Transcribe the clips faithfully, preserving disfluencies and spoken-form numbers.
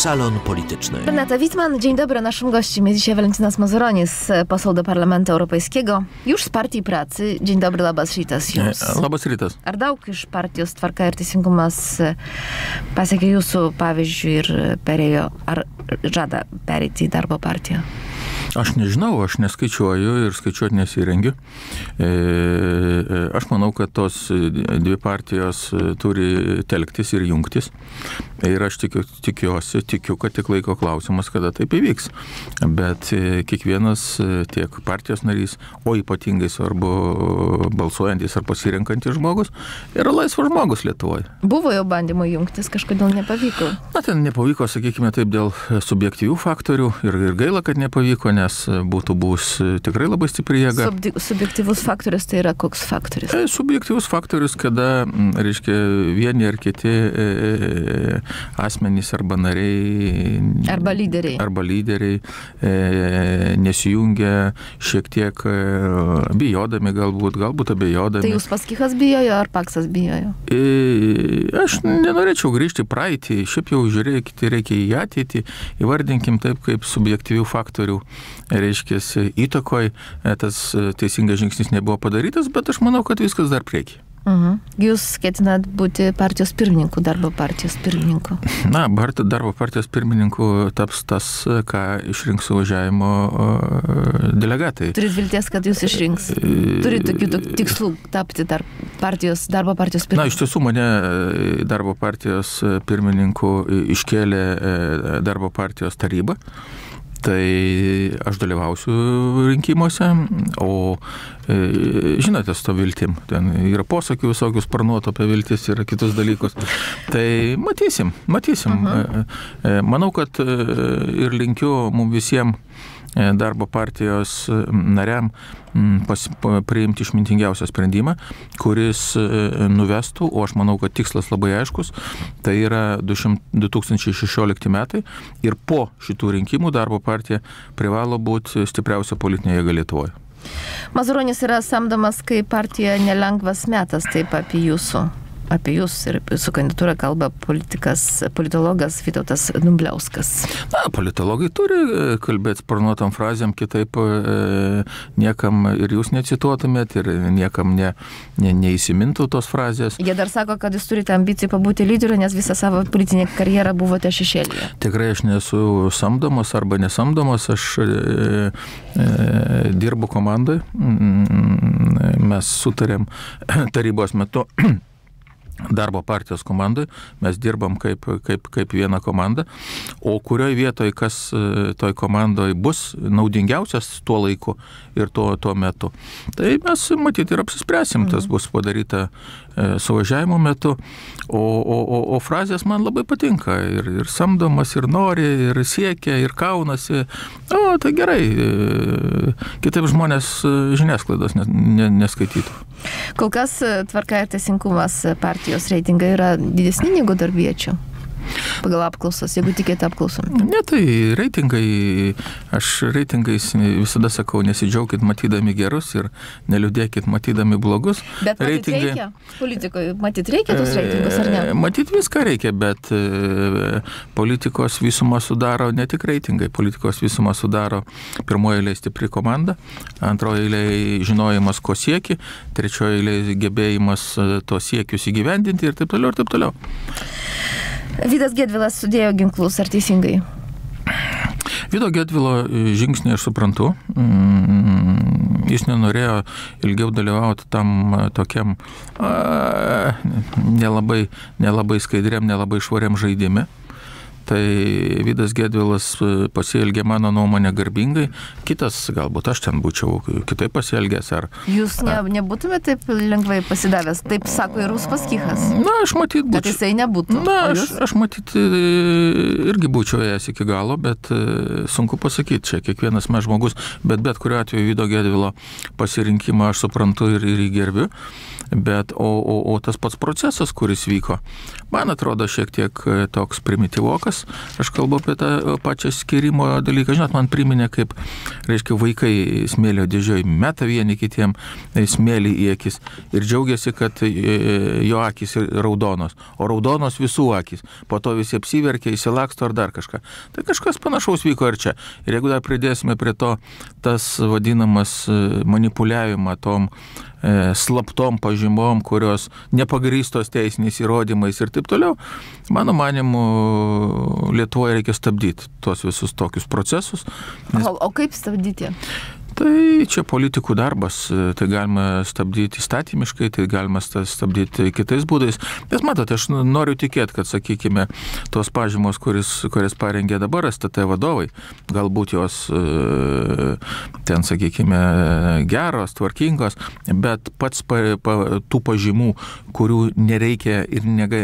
Salon Polityczny. Renata Wittmann, dzień dobry. Naszym gościem jest dzisiaj Valentinas Mazuronis, poseł do Parlamentu Europejskiego, już z Partii Pracy. Dzień dobry, labas rytas jums. Labas rytas. Ar daug iš partijos Tvarka ir Teisingumas pasiekė jūsų pavyzdžių ir perėjo, ar žada pereiti į darbo partiją? Aš nežinau, aš neskaičiuoju ir skaičiuoti nesirengiu. Aš manau, kad tos dvi partijos turi telktis ir jungtis. Ir aš tikiu, tikiuosi, tikiu, kad tik laiko klausimas, kada taip įvyks. Bet kiekvienas tiek partijos narys, o ypatingai svarbu balsuojantis ar pasirenkantis žmogus, yra laisvas žmogus Lietuvoje. Buvo jau bandymų jungtis, kažkodėl nepavyko. Na, ten nepavyko, sakykime taip, dėl subjektyvių faktorių ir, ir gaila, kad nepavyko, nes būtų bus tikrai labai stipri jėga. Subdi, subjektyvus faktorius tai yra koks faktorius? E, subjektyvus faktorius, kada, reiškia, vieni ar kiti e, asmenys arba nariai arba lyderiai, arba lyderiai e, nesijungia šiek tiek e, bijodami galbūt, galbūt abejodami. Tai jūs Paskichas bijojo ar Paksas bijojo? E, aš nenorėčiau grįžti praeitį, šiaip jau žiūrėkite, reikia į ateitį, įvardinkim taip kaip subjektyvių faktorių, reiškia, įtakoj tas teisingas žingsnis nebuvo padarytas, bet aš manau, kad viskas dar prieki. Mhm. Jūs ketinat būti partijos pirmininku, darbo partijos pirmininku? Na, darbo partijos pirmininku taps tas, ką išrinks suvažiavimo delegatai. Turit vilties, kad jūs išrinks? Turit tokių tikslų tapti dar partijos, darbo partijos pirmininku? Na, iš tiesų mane darbo partijos pirmininku iškėlė darbo partijos taryba. Tai aš dalyvausiu rinkimuose, o e, žinote, su to viltim, ten yra posakių visokių sparnuotų apie viltis ir kitus dalykus. Tai matysim, matysim. Uh-huh. E, manau, kad e, ir linkiu mums visiems darbo partijos nariam pas, priimti išmintingiausią sprendimą, kuris nuvestų, o aš manau, kad tikslas labai aiškus, tai yra du tūkstančiai šešiolikti metai ir po šitų rinkimų darbo partija privalo būti stipriausia politinė jėga Lietuvoje. Mazuronis yra samdomas kaip partija nelengvas metas, taip apie jūsų. Apie jūs ir su kandidatūra kalba politikas, politologas Vytautas Dumbliauskas. Na, politologai turi kalbėti sparnuotam frazėm, kitaip e, niekam ir jūs necituotumėt ir niekam ne, ne, neįsimintų tos frazės. Jie dar sako, kad jūs turite ambicijų pabūti lyderiu, nes visą savo politinę karjerą buvote šešėlyje. Tikrai aš nesu samdomas arba nesamdomas, aš e, e, dirbu komandai, mes sutarėm tarybos metu darbo partijos komandai, mes dirbam kaip, kaip, kaip viena komanda, o kurioje vietoje kas toj komandoje bus naudingiausias tuo laiku ir tuo, tuo metu. Tai mes matyti ir apsispręsim, tas bus padaryta e, suvažiavimo metu, o, o, o, o frazės man labai patinka, ir, ir samdomas, ir nori, ir siekia, ir kaunasi. O, tai gerai, e, kitaip žmonės žiniasklaidos nes, ne, neskaitytų. Kol kas Tvarka ir Teisingumas partijos reitingai yra didesni negu darbiečių pagal apklausas, jeigu tikėti apklausom. Ne, tai reitingai, aš reitingais visada sakau, nesidžiaukit matydami gerus ir neliūdėkit matydami blogus. Bet matyt reitingai... reikia? Politikoje matyt reikia tos reitingus, ar ne? Matyt viską reikia, bet politikos visumą sudaro ne tik reitingai, politikos visumą sudaro pirmoje eilėje stipri komanda, antroje eilėje žinojimas, ko sieki, trečioje eilėje gebėjimas to siekius įgyvendinti ir taip toliau ir taip toliau. Vydas Gedvilas sudėjo ginklus, ar teisingai? Vydo Gedvilo žingsnį aš suprantu. Jis nenorėjo ilgiau dalyvauti tam tokiam a, nelabai, nelabai skaidriam, nelabai švariam žaidime. Tai Vydas Gedvilas pasielgė mano nuomonę garbingai, kitas galbūt aš ten būčiau kitaip pasielgęs. Ar, Jūs ne, nebūtumėte taip lengvai pasidavęs, taip sako ir Paskichas. Na, aš matyt būčiau. Kad jisai nebūtų. Na, aš, aš matyt irgi būčiau ėjęs iki galo, bet sunku pasakyti, čia kiekvienas mes žmogus, bet bet kuriuo atveju Vydo Gedvilo pasirinkimą aš suprantu ir, ir įgerbiu. Bet, o, o, o tas pats procesas, kuris vyko, man atrodo šiek tiek toks primityvokas. Aš kalbu apie tą pačią skirimo dalyką. Žinot, man priminė, kaip, reiškia, vaikai smėlio dėžioj meta vieni kitiem smėlį į akis ir džiaugiasi, kad jo akis raudonos, o raudonos visų akis. Po to visi apsiverkia, įsilaksto ar dar kažką. Tai kažkas panašaus vyko ir čia. Ir jeigu dar pridėsime prie to tas vadinamas manipuliavimą tom e, slaptom pažymom, kurios nepagrįstos teisiniais įrodymais ir taip toliau, mano manimu, Lietuvoje reikia stabdyti tuos visus tokius procesus. Nes... O, o kaip stabdyti? Tai čia politikų darbas, tai galima stabdyti įstatymiškai, tai galima stabdyti kitais būdais. Bet matote, aš noriu tikėti, kad, sakykime, tos pažymos, kuris, kurias parengė dabar S T T vadovai, galbūt jos ten, sakykime, geros, tvarkingos, bet pats pa, pa, tų pažymų, kurių nereikia ir nega,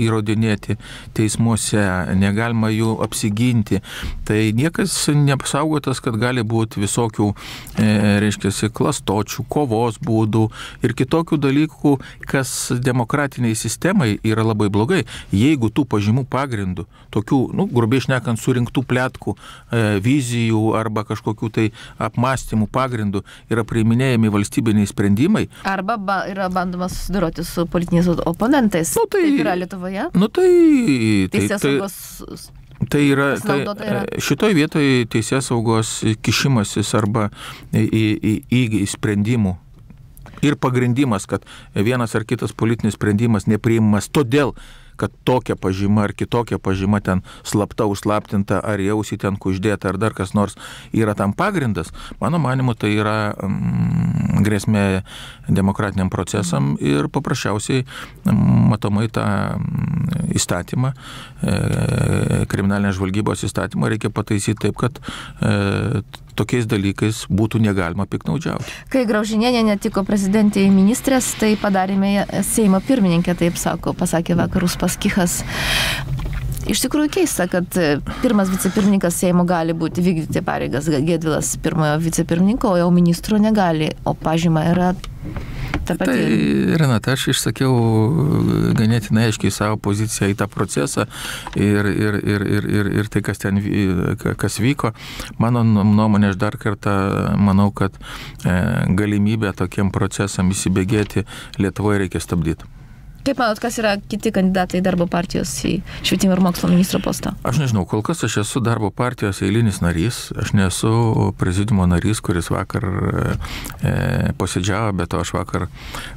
įrodinėti teismuose, negalima jų apsiginti, tai niekas neapsaugotas, kad gali būti visokių reiškiasi klastočių, kovos būdų ir kitokių dalykų, kas demokratiniai sistemai yra labai blogai. Jeigu tų pažymų pagrindų, tokių, nu, grubiai šnekant, surinktų pletkų, e, vizijų arba kažkokių tai apmąstymų pagrindų yra priiminėjami valstybiniai sprendimai. Arba ba, yra bandoma susidoroti su politiniais oponentais. Nu, tai Taip yra Lietuvoje. Nu, tai... Teisės tai, saugos... Tai yra, tai, šitoj vietoje teisės saugos kišimasis arba į, į, į, į sprendimų ir pagrindimas, kad vienas ar kitas politinis sprendimas nepriimamas todėl, kad tokia pažyma ar kitokia pažyma ten slapta, užslaptinta, ar jausi ten kuždėta, ar dar kas nors yra tam pagrindas, mano manimu, tai yra mm, grėsmė demokratiniam procesam ir paprasčiausiai matomai tą įstatymą, e, kriminalinės žvalgybos įstatymą reikia pataisyti taip, kad e, tokiais dalykais būtų negalima piknaudžiauti. Kai Graužinienė netiko prezidentė į ministrės, tai padarėme Seimo pirmininkę, taip sako, pasakė vakar Uspaskichas. Iš tikrųjų keista, kad pirmas vicepirmininkas Seimo gali būti vykdyti pareigas Gedvilas pirmojo vicepirmininko, o jau ministro negali, o pažyma yra ta pati. Tai, Renata, aš išsakiau ganėtinai aiškiai savo poziciją į tą procesą ir, ir, ir, ir, ir, ir tai, kas ten kas vyko. Mano nuomonė, aš dar kartą manau, kad e, galimybę tokiem procesam įsibėgėti Lietuvoje reikia stabdyti. Kaip manot, kas yra kiti kandidatai darbo partijos į švietimo ir mokslo ministro postą? Aš nežinau, kol kas aš esu darbo partijos eilinis narys, aš nesu prezidiumo narys, kuris vakar e, posėdžiavo, bet to aš vakar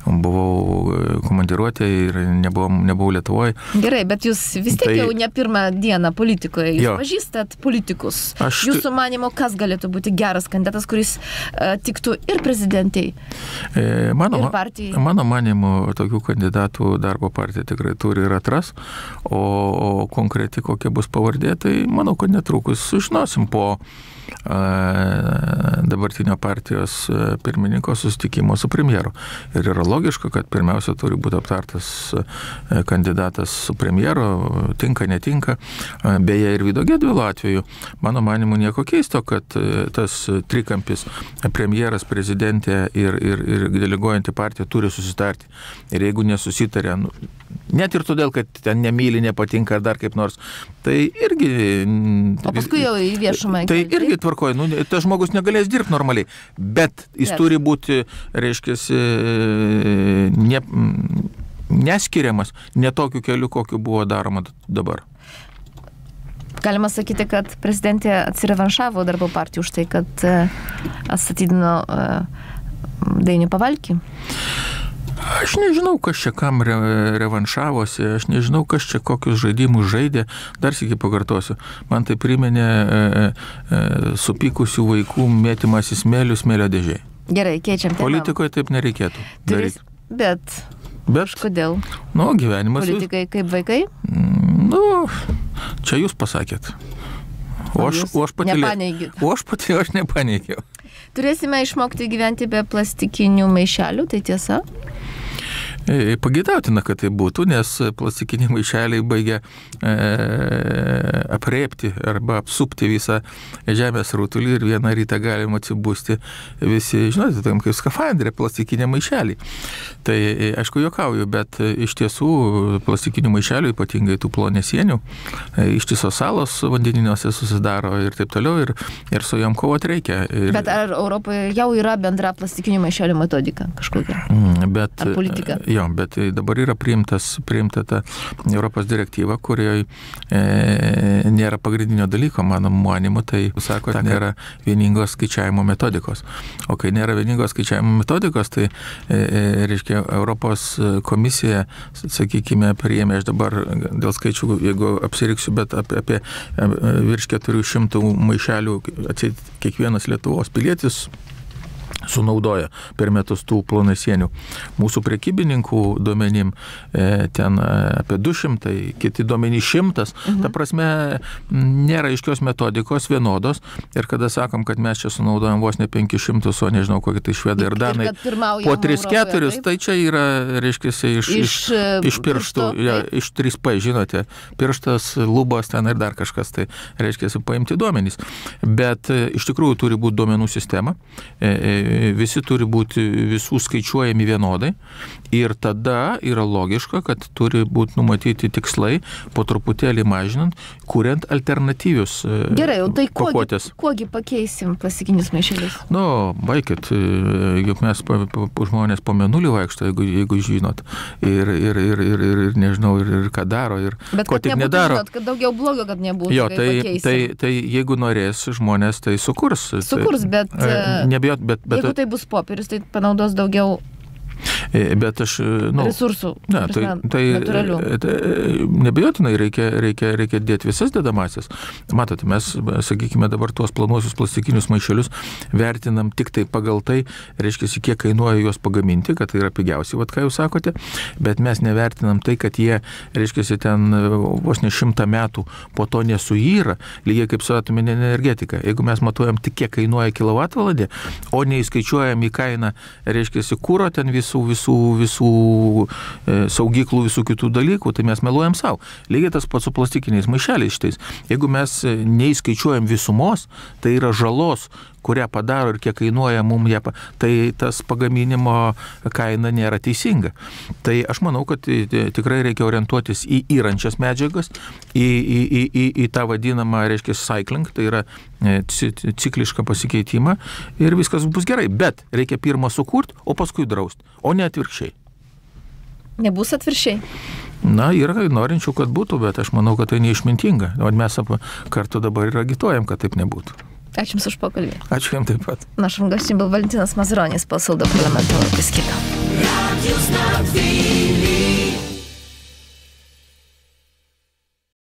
buvau komandiruotė ir nebuvau, nebuvau Lietuvoje. Gerai, bet jūs vis tiek tai... jau ne pirmą dieną politikoje, jūs jo. pažįstat politikus. Aš... Jūsų manimo, kas galėtų būti geras kandidatas, kuris e, tiktų ir prezidentai, e, mano, ir partijai? Mano manimo, tokių kandidatų darbo partija tikrai turi ir atras, o, o konkreti kokia bus pavardė, tai manau, kad netrukus sužinosim po a, dabartinio partijos pirmininko susitikimo su premjeru. Ir yra logiška, kad pirmiausia turi būti aptartas kandidatas su premjeru, tinka, netinka. Beje, ir Vido Gedvilo atveju, mano manimu, nieko keisto, kad tas trikampis premjeras, prezidentė ir, ir, ir deleguojanti partija turi susitarti. Ir jeigu nesusitarė, net ir todėl, kad ten nemyli, nepatinka ar dar kaip nors, tai irgi... O paskui jau į viešumą. Tai irgi tvarkoja, nu, tas žmogus negalės dirbti normaliai, bet jis bet. turi būti, reiškiasi, ne, neskiriamas ne tokiu keliu, kokiu buvo daroma dabar. Galima sakyti, kad prezidentė atsirevanšavo darbo partijų už tai, kad atstatydino Dainių Pavalkį. Aš nežinau, kas čia kam re, revanšavosi, aš nežinau, kas čia kokius žaidimus žaidė. Dar sykį pakartosiu. Man tai priminė e, e, supykusių vaikų mėtymas į smėlių smėlio dėžiai. Gerai, keičiam temą. Politikoje taip nereikėtų. Turis, bet... Bet... Kodėl? Nu, gyvenimas... Politikai jūs... kaip vaikai? Nu, čia jūs pasakėt. O aš, o aš patylėjau. O aš patylėjau, aš nepaneigiau. Turėsime išmokti gyventi be plastikinių maišelių, tai tiesa? Pageidautina, kad tai būtų, nes plastikiniai maišeliai baigia e, apriepti arba apsupti visą žemės rutulį ir vieną rytą galima atsibusti visi, žinote, tam kaip skafandrė, plastikiniai maišeliai. Tai aišku, juokauju, bet iš tiesų plastikinių maišelių, ypatingai tų plonesienių, ištisos salos vandeniniuose susidaro ir taip toliau, ir, ir su jom kovoti reikia. Ir... Bet ar Europoje jau yra bendra plastikinių maišelių metodika kažkokia? Bet, ar politika? Jo, bet dabar yra priimtas, priimta ta Europos direktyva, kurioje e, nėra pagrindinio dalyko, mano manimu, tai sako, kad nėra vieningos skaičiavimo metodikos. O kai nėra vieningos skaičiavimo metodikos, tai e, reiškia, Europos komisija, sakykime, priėmė, aš dabar dėl skaičių, jeigu apsiriksiu, bet apie, apie virš keturių šimtų maišelių atseit kiekvienas Lietuvos pilietis sunaudoja per metus tų plonasienių. Mūsų prekybininkų duomenim e, ten apie du šimtai, kiti duomenys šimtas. Mhm. Ta prasme, nėra aiškios metodikos vienodos ir kada sakom, kad mes čia sunaudojam vos ne penkis šimtus, o nežinau, kokie tai švedai ir danai po tris keturis, tai čia yra, reiškia, iš, iš, iš pirštų, ja, iš trys P, žinote, pirštas, lubos ten ir dar kažkas, tai reiškia, paimti duomenys. Bet iš tikrųjų turi būti duomenų sistema, e, e, visi turi būti visų skaičiuojami vienodai ir tada yra logiška, kad turi būti numatyti tikslai, po truputėlį mažinant, kuriant alternatyvius Gerai, tai pakuotės. Gerai, kuogi pakeisim plastikinius maišelius? Nu, baikit, juk mes po, po, po žmonės po menulį vaikšto, jeigu, jeigu žinot, ir, ir, ir, ir, ir, ir nežinau, ir, ir ką daro, ir Bet ko tik nebūtų, nedaro. Žinot, kad daugiau blogo, kad nebūtų, jo, tai, pakeisim. tai, tai jeigu norės žmonės, tai sukurs. Sukurs, bet... Tai, nebijot, bet, bet Jeigu tai bus popierius, tai panaudos daugiau Bet aš, nu, resursų, ne, tai, tai, natūralių. Tai nebejotinai reikia, reikia, reikia dėti visas dedamasias. Matote, mes, sakykime, dabar tuos planuosius plastikinius maišelius vertinam tik tai pagal tai, reiškia, kiek kainuoja juos pagaminti, kad tai yra pigiausiai, vat ką jūs sakote, bet mes nevertinam tai, kad jie, reiškia, ten vos ne šimtą metų po to nesuyra, lygiai kaip su atominė energetika. Jeigu mes matuojam tik kiek kainuoja kilovatvalandė, o neįskaičiuojam į kainą, reiškia, kūro ten visų, visų, visų e, saugyklų, visų kitų dalykų, tai mes meluojam savo. Lygiai tas pats su plastikiniais maišeliais šitais. Jeigu mes neįskaičiuojam visumos, tai yra žalos, kurią padaro ir kiek kainuoja mums ją, tai tas pagaminimo kaina nėra teisinga. Tai aš manau, kad tikrai reikia orientuotis į įrančias medžiagas, į, į, į, į, į tą vadinamą, reiškia, cycling, tai yra ciklišką pasikeitimą ir viskas bus gerai. Bet reikia pirmą sukurti, o paskui drausti, o ne atvirkščiai. Nebus atvirkščiai? Na, yra norinčių, kad būtų, bet aš manau, kad tai neišmintinga. O mes kartu dabar ir agituojam, kad taip nebūtų. Ačiū Jums už pokalbį. Ačiū Jums taip pat. Нашим гостем был Валентинас Мазуронис, посол до парламента Европейского.